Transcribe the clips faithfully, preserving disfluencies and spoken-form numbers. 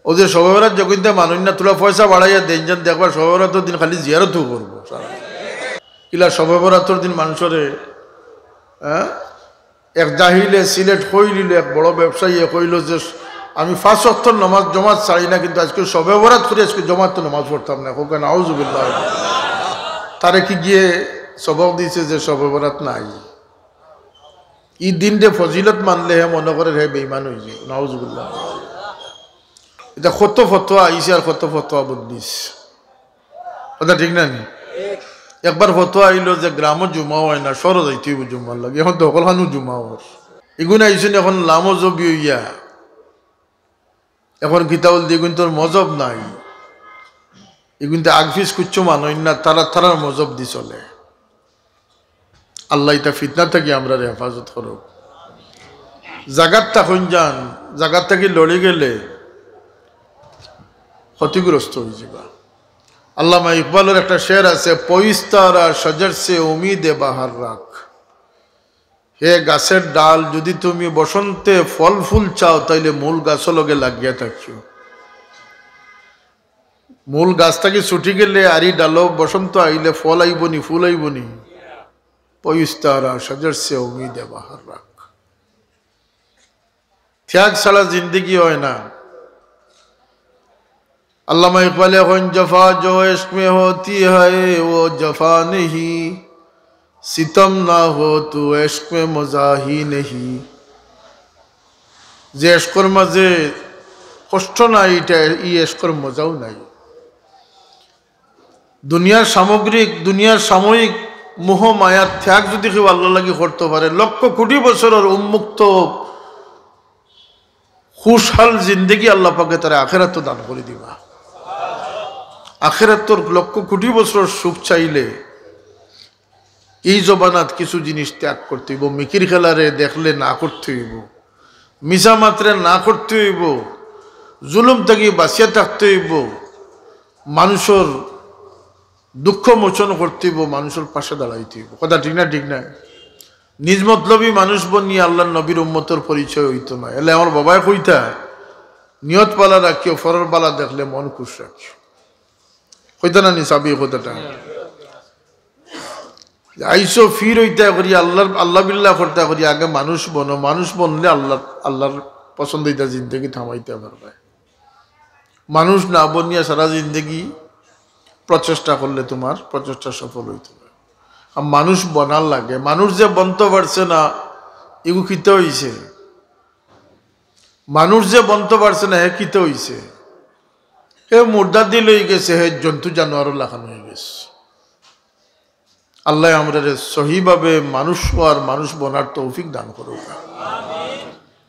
অউ যে শবে বরাত যখন তে মানুষ না, থুড়া পয়সা বাড়াইয়া দেইন, যেন দেখবা শবে বরাতর দিন খালি জিয়ারতউ করবো। কিলা শবে বরাতর দিন মানষরে, হ্যাঁ, এক জাহিলে সিলেট কইলিল, এক বড় ব্যবসায়ীয়ে কইলো যে, "আমি পাঁচ ওয়াক্তর নামাজ জমাত ছাড়ি না, কিন্তু আইজকে শবে বরাত করি, আইজকে জমাত নামাজ পড়তাম না।" কউক্কা নাউজুবিল্লাহ। তারে কি গিয়ে সবক দিছে যে শবে বরাত নাই? ই দিনরে ফজিলত মানলে হে মনো করের হে বেইমান অইযায়। নাউজুবিল্লাহ। ইতা কত ফতোয়া আইছে আর কত ফতোয়া বদলিছে। কথা ঠিক না নি? একবার ফতোয়া আইলো যে গ্রামো জুমা অয় না, শহরো যাইতে অইবো জুমার লাগি। এখন তো হকলখানো জুমা অর। ইগুন আইছইন এখন লামজহবি অইয়া। এখন কিতা বলতে, ইগুন তোর মজহব নাই। ইগুন তো আগফিস কুচ্ছু মানইন না, তারা তারার মজহব দি চলে। আল্লায় ইতা ফিতনা থাকি আমরারে হেফাজত করউক। জাগাত থাকইন যান, জাগাত থাকি লড়ি গেলে ক্ষতিগ্রস্ত অইযিবা। আল্লামা ইকবালর একটা শের আছে, "পইস্তারা শজর সে উম্মীদে বাহার রাখ।" হে গাছর ডাল, যুদি তুমি বসন্তে ফল ফুল চাও, তাইলে মূল গাছর লগে লাগিয়া থাকিও। মূল গাছ থাকি ছুটি গেলে আর ই ডালো বসন্ত আইলে ফল আইবো নি, ফুল আইবো নি? পইস্তারা শজর সে উম্মীদে বাহার রাখ। ত্যাগ ছাড়া জিন্দেগি অয় না। আল্লামা ইকবালে কইন, "জফা জো ইশক মে হোতি হ্যায়, ও জফা নেহি, সিতম না হো তো ইশক মে মজা হি নেহি।" যে ইশকর মাঝে কষ্ট নাই, ইটা, ই ইশকর মজাও নাই। দুনিয়ার সামগ্রিক, দুনিয়ার সাময়িক মোহ মায়ার ত্যাগ যুদি কেউ আল্লার লাগি করতো পারে, লক্ষ কোটি বছরর উন্মুক্ত খুশহাল জিন্দেগি আল্লা পাকে তারে আখেরাতো দান করি দিবা। আখেরাতর লক্ষ কোটি বছরর সুখ চাইলে ই জমানাত কিছু জিনিস ত্যাগ করতে অইবো। মিকির খেলারে দেখলে না করতে অইবো, মিছা মাতরে না করতে অইবো, জুলুম থাকি বাঁচিয়া থাকতে অইবো, মানুষর দুঃখ মোচন করতে অইবো, মানুষর পাশে দাঁড়াইতে অইবো। কথা ঠিক না? ঠিক না? নিজ মতলবী মানুষ বনিয়া আল্লার নবীর উম্মতর পরিচয় অইতো না। এলে আমার বাবায় কইতা, "নিয়ত বালা রাখিও, পরর বালা দেখলে মন খুশ রাখিও।" কইতা না নি সাবি কথাটা? আইসো ফির অইতা করি, আল্লার, আল্লা বিল্লা করতা করি, আগে মানুষ বনো, মানুষ বনলে আল্লার, আল্লার পছন্দিদা জিন্দেগি থামাইতা পারবায়। মানুষ না বনিয়া সারা জিন্দেগি প্রচেষ্টা করলে তুমার প্রচেষ্টা সফল অইতো না। আর মানুষ বনার লাগে, মানুষ যে বনতো পারছে না, ইগু কিতা অইছে? মানুষ যে বনতো পারছে না, হে কিতা অইছে? হে মুর্দা দিল অইগেছে, হে জন্তু জানোয়ারর লাখান অইগেছে। আল্লায় আমরারে সহিভাবে মানুষ অওয়ার, মানুষ বনার তৌফিক দান করুক।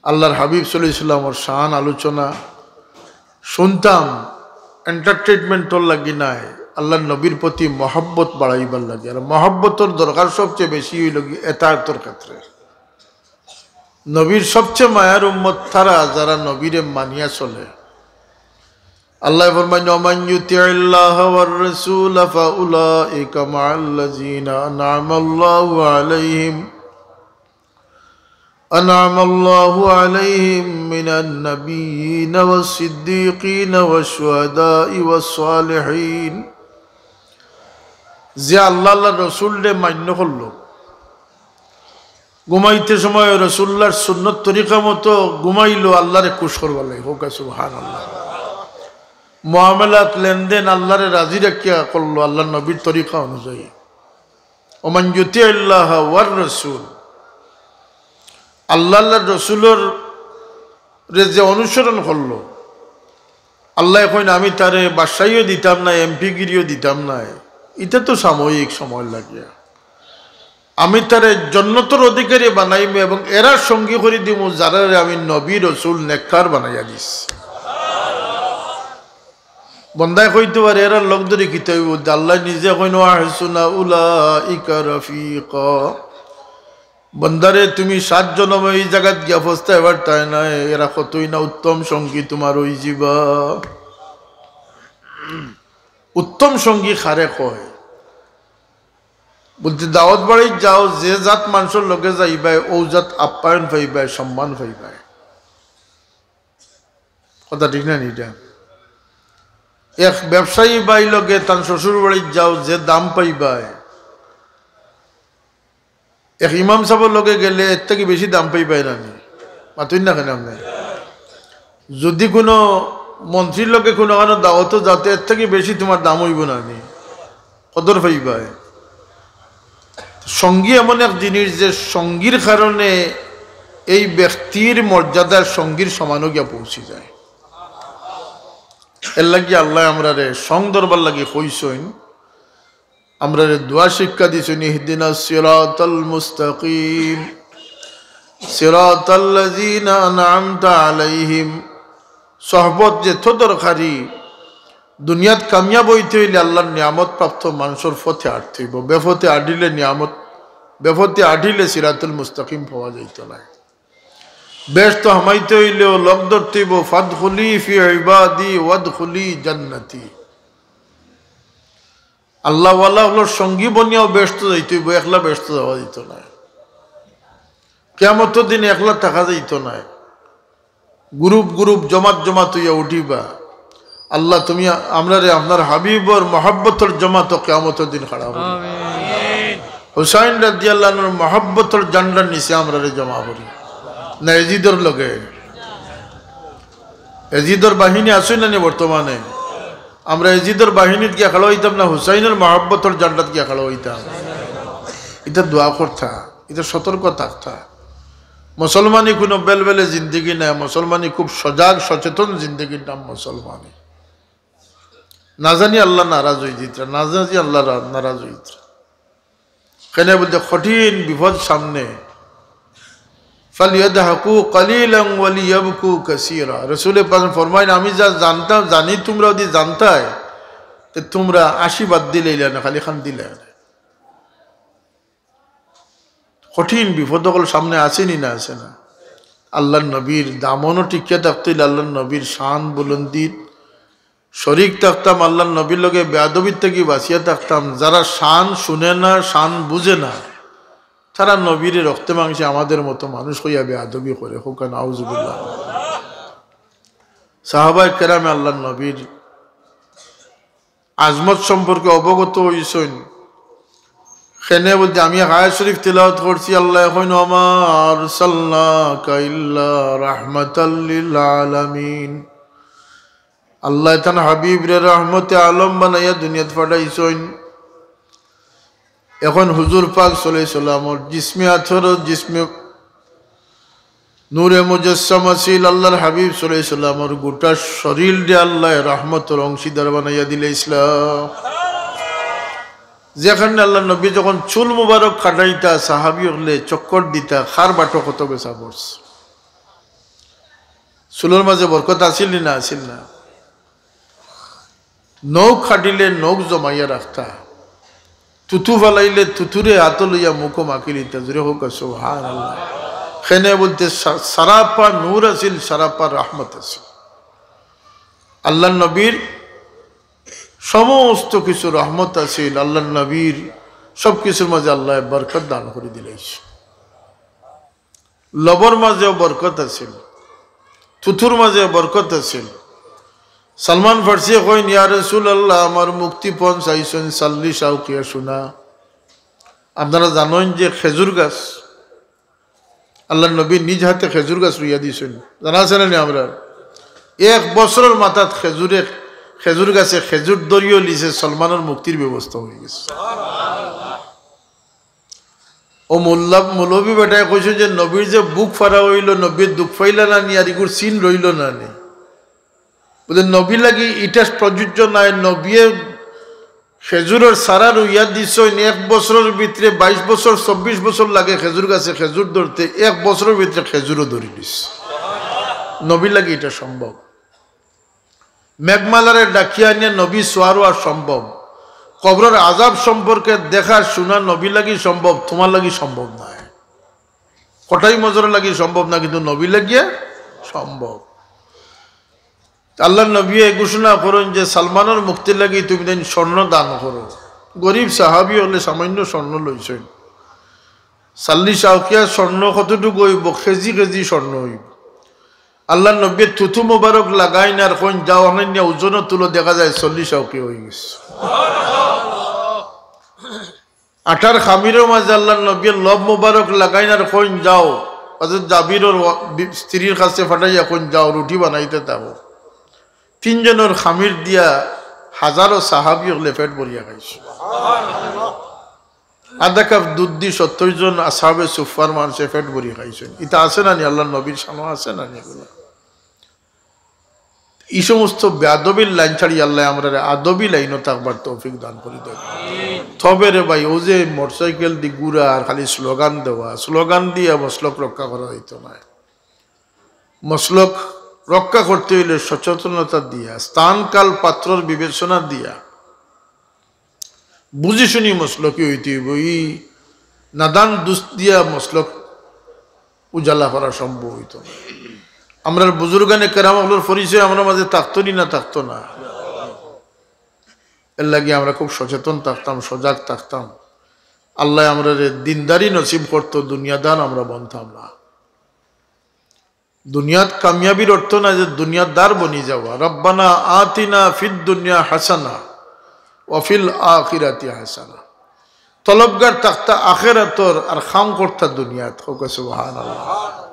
আল্লার হাবিব সাল্লাল্লাহু আলাইহি ওয়াসাল্লামর শান আলোচনা শুনতাম, entertainment-র লাগি নায়, আল্লার নবীর প্রতি মহব্বত বাড়াইবার লাগি। আর মহব্বতর দরকার সবচেয়ে বেশি অইলো গি এতায়াতর ক্ষেত্রে। নবীর সবচেয়ে মায়ার উম্মত তারা, যারা নবীরে মানিয়া চলে। আল্লায় ফরমাইন, "ওমান ইউতিইল্লাহা ওয়ার রাসূলা ফাউলাইকা মাআল্লাযীনা আনআমাল্লাহু আলাইহিম, আনআমাল্লাহু আলাইহিম মিনান নাবিয়্যিনা ওয়াস সিদ্দীকিনা ওয়াশ শুহাদাই ওয়াস সালিহিন।" যে আল্লা, আল্লার রসুলরে মান্য করলো, ঘুমাইতে সময় রসুল্লার সুন্নত তরিকা মতো ঘুমাইলো, আল্লারে খুশ করবার লাগি। কউক্কা সুবহানাল্লাহ। মুআমালাত, লেনদেন আল্লারে রাজি রাখিয়া করলো, আল্লার নবীর তরিকা অনুযায়ী। ওমান ইউতিইল্লাহা ওয়ার রাসূল, আল্লা, আল্লার রসুলর রে যে অনুসরণ করলো, আল্লায় কইন, "আমি তারে বাদশাহীও দিতাম নায়, এমপিগিরিও দিতাম নায়, ইটা তো সাময়িক সময় লাগিয়া।" আমি তারে জন্নতর অধিকারী বানাইমু এবং এরার সঙ্গী করি দিমু, যারারে আমি নবী, রসুল, নেককার বানাইয়া দিছি। বন্দায় কইতে পারে, "এরার লগ ধরি কিতা অইবো?" আল্লায় নিজে কইন, "ওয়া হাসুনা উলাইকা রফিকা।" বন্দারে, তুমি সাত জনমে ই জাগাত গিয়া পস্তাইবার তাই নায়, এরা কতই না উত্তম সঙ্গী তুমার অইযিবা। উত্তম সঙ্গী কারে কয়? বলতে, দাওয়াত বাড়িত যাও, যে জাত মানষর লগে যাইবায়, অউ জাত আপ্যায়ন পাইবায়, সম্মান পাইবায়। কথা ঠিক না নি ইটা? এক ব্যবসায়ী ভাই লগে তান শ্বশুর বাড়িত যাও, যে দাম পাইবায়, এক ইমাম সাবর লগে গেলে এর থাকি বেশি দাম পাইবায় না নি? মাতইন না কেনে আপনে? যুদি কুনু মন্ত্রীর লগে কুনুখানো দাওয়াতো যাও তে এর থাকি বেশি তুমার দাম অইবো না নি? কদর পাইবায়। সঙ্গী এমন এক জিনিস যে সঙ্গীর কারণে এই ব্যক্তির মর্যাদা সঙ্গীর সমানো গিয়া পৌঁছি যায়। এর লাগি আল্লায় আমরারে সং ধরবার লাগি কইছইন, আমরারে দোয়া শিক্ষা দিছইন, "ইহদিনাস সিরাতাল মুস্তাকিম, সিরাতাল্লাযিনা আনআমতা আলাইহিম।" সহবত যেত দরকারি, দুনিয়াত কামিয়াব অইতে অইলে আল্লার নিয়ামত প্রাপ্ত মানষর পথে আটতে অইবো। বেপথে আটিলে নিয়ামত, বেপথে আটিলে সিরাতুল মুস্তাকিম পাওয়া যাইতো নায়। বেহেস্তো হামাইতে অইলেও লগ ধরতে অইবো, "ফাদখুলি ফি ইবাদি ওয়াদখুলি জান্নাতি।" আল্লাহওয়ালা অকলর সঙ্গী বনিয়াও বেহেস্তো যাইতে অইবো, একলা বেহেস্তো যাওয়া যাইতো নায়। কিয়ামতর দিন একলা থাকা যাইতো নায়। গ্রুপ গ্রুপ, জমাত জমাত অইয়া উঠিবা। আল্লাহ, তুমি আমরারে আপনার হাবিবর মহব্বতর জমাতো কিয়ামতর দিন খাড়া করি। আমিন। হুসাইন রাদিয়াল্লাহু আনহুর মহব্বতর ঝান্ডার নিচে আমরারে জমা করি। না এজিদর লগে? এজিদর বাহিনী আছে না নি বর্তমানে? আমরা এজিদর বাহিনীত গিয়া খাড়া অইতাম না হুসাইনর মহব্বতর ঝান্ডাত গিয়া খাড়া অইতাম? ইটা দোয়া করতা, ইটা সতর্ক থাকতা। মুসলমানি কুনু বেলবেলে জিন্দেগি নায়, মুসলমানি খুব সজাগ সচেতন জিন্দেগির নাম মুসলমানি। না জানি আল্লাহ নারাজ অইযিতরা, না জানি আল্লাহ রা-, নারাজ অইযিতরা। কেনে বুলতে কঠিন বিপদ সামনে। "ফালিয়াদহাকু কালিলান ওয়ালিয়াবকু কাসীরা।" রাসূলে পাক ফরমাইন, "আমি যা জানতাম, জানি তুমরা যুদি জানতায়, তে তুমরা হাসি বাদ দিলাইলায় না, খালি কান্দিলায় না।" কঠিন বিপদ অকল সামনে আছে নি না আছে না? আল্লার নবীর দামনো টিকিয়া থাকতে অইলে আল্লার নবীর শান বুলন্দির শরিক থাকতাম, আল্লার নবীর লগে বেয়াদবির থাকি বাঁচিয়া থাকতাম। যারা শান শুনে না, শান বুঝে না, তারা নবীরে রক্তে মাংসে আমাদের মতো মানুষ কইয়া বেয়াদবি করে। কউক্কা নাউজুবিল্লাহ। সাহাবায়ে কেরামে আল্লার নবীর আজমত সম্পর্কে অবগত অইছইন। কেনে বুলতে আমি আয়াত শরিফ তিলাওয়াত করছি, আল্লায় কইন, "ওয়া মা আরসালনাকা ইল্লা রাহমাতাল লিল আলামিন।" আল্লায় তান হাবিবরে রহমতে আলম বানাইয়া দুনিয়াত পাঠাইছইন। এখন হুজুর পাক সাল্লাল্লাহু আলাইহি ওয়াসাল্লামর জিসমে আতহর, জিসমে নূরে মুজাসসাম আছিল। আল্লার হাবিব সাল্লাল্লাহু আলাইহি ওয়াসাল্লামর গোটা শরীলরে আল্লায় রহমতর অংশীদার বানাইয়া দিলাইছলা। যেখানে আল্লার নবী যখন চুল মুবারক কাটাইতা, সাহাবী অকলে চক্কর দিতা, কার বাটো কত বেছা পড়ছে। চুলর মাঝে বরকত আছিল নি না আছিল না? নখ কাটিলে নখ জমাইয়া রাখতা, থুথু ফালাইলে থুথুরে আতো লইয়া মুখো মাখিলিতা। জোরে কউক্কা সুবহানাল্লাহ। কেনে বুলতে সা-, সারাপা নূর আছিল, সারাপা রহমত আছিল। আল্লার নবীর সমস্ত কিছু রহমত আছিল, আল্লার নবীর সব কিছুর মাঝে আল্লায় বরকত দান করি দিলাইছইন। লবর মাঝেও বরকত আছিল, থুথুর মাঝেও বরকত আছিল। সালমান ফার্সিয়ে কইন, "ইয়া রাসূলুল্লাহ, আমার মুক্তিপণ চাইছইন চাল্লিশ আউকিয়া সোনা।" আপনারা জানইন যে খেজুর গাছ, আল্লার নবী নিজ হাতে খেজুর গাছ রুইয়া দিছইন, জানা আছে না নি আমরার? এক বছরর মাথাত খেজুরে, খেজুর গাছে খেজুর ধরিও লিছে, সালমানর মুক্তির ব্যবস্থা অইগেছে। ও মোল্লা, মৌলভী বেটায় কইছে যে নবীর যে বুক ফাড়া অইলো, নবীয়ে দুখ পাইলা না নি, আর ইগুর চিন রইলো না নি। বুলে, নবী লাগি ইটা প্রযোজ্য নায়, নবীয়ে খেজুরর চারা রুইয়া দিছইন, এক বছরর ভিতরে, বাইশ বছর, চব্বিশ বছর লাগে খেজুর গাছে খেজুর ধরতে, এক বছরর ভিতরে খেজুরও ধরি দিছে। নবী লাগি ইটা সম্ভব। মেঘমালারে ডাকিয়া আনিয়া নবী সোয়ার অওয়া সম্ভব। কবরর আজাব সম্পর্কে দেখা শুনা নবী লাগি সম্ভব, তুমার লাগি সম্ভব নায়। কটাই মজর লাগি সম্ভব না, কিন্তু নবী লাগিয়া সম্ভব। আল্লার নবীয়ে ঘোষণা করইন যে সালমানর মুক্তির লাগি তুমি দেন স্বর্ণ দান করো। গরিব সাহাবী অকলে সামান্য স্বর্ণ লইছইন। চাল্লিশ আউকিয়া স্বর্ণ কতটুকু অইবো? কেজি কেজি স্বর্ণ অইবো। আল্লাহর নবী থুথু মোবারক লাগাইন আর কইন, "যাও, অখান নিয়া ওজনো তুলো", দেখা যায় চল্লিশ আউকি অই গেছে। আটার খামিরর মাঝে আল্লাহর নবী লব মোবারক লাগাইন আর কইন, "যাও, হযরত জাবিরর ওয়া-, বি-, স্ত্রীর কাছে পাঠাইয়া কইন, যাও, রুটি বানাইতে থাকো।" তিনজনর খামির দিয়া হাজারো সাহাবী অকলে পেট ভরিয়া খাইছে। আধা কাপ দুধ দি সত্তর জন আসহাবে সুফার মানষে পেট ভরি খাইছইন। ইতা আছে না নি? আল্লাহর নবীর শানো আছে না নি এগুলা? এই সমস্ত বেয়াদবির লাইন ছাড়ি আল্লাহ আমরারে আদবি লাইনও থাকবার তৌফিক দান করি দেন। তবে রে ভাই, ও যে মোটরসাইকেল দি ঘুরা আর খালি স্লোগান দেওয়া, স্লোগান দিয়া মসলক রক্ষা করা হইতো না। মসলক রক্ষা করতে হইলে সচেতনতা দিয়া, স্থান কাল পাত্রর বিবেচনা দিয়া, বুঝি শুনি মসলকি হইতে হইব। এই নাদান দুস্ত দিয়া মসলক উজালা করা সম্ভব হইতো না। আমরার বুজুর্গানে কেরাম অকলর পরিচয় আমরার মাঝে থাকতো নি না থাকতো না? এর লাগি আমরা খুব সচেতন থাকতাম, সজাগ থাকতাম। আল্লাহ আমরারে দিনদারি নসিব করতো, দুনিয়াদার আমরা বনতাম না। দুনিয়াত কামিয়াবির অর্থ না যে দুনিয়াদার বনি যাওয়া। রব্বানা আতিনা ফিদ দুনিয়া হাসানা ওয়া ফিল আখিরাতি হাসানা। তলবগার থাকতা আখেরাতর আর কাম করতা দুনিয়াত। কউক্কা সুবহানাল্লাহ।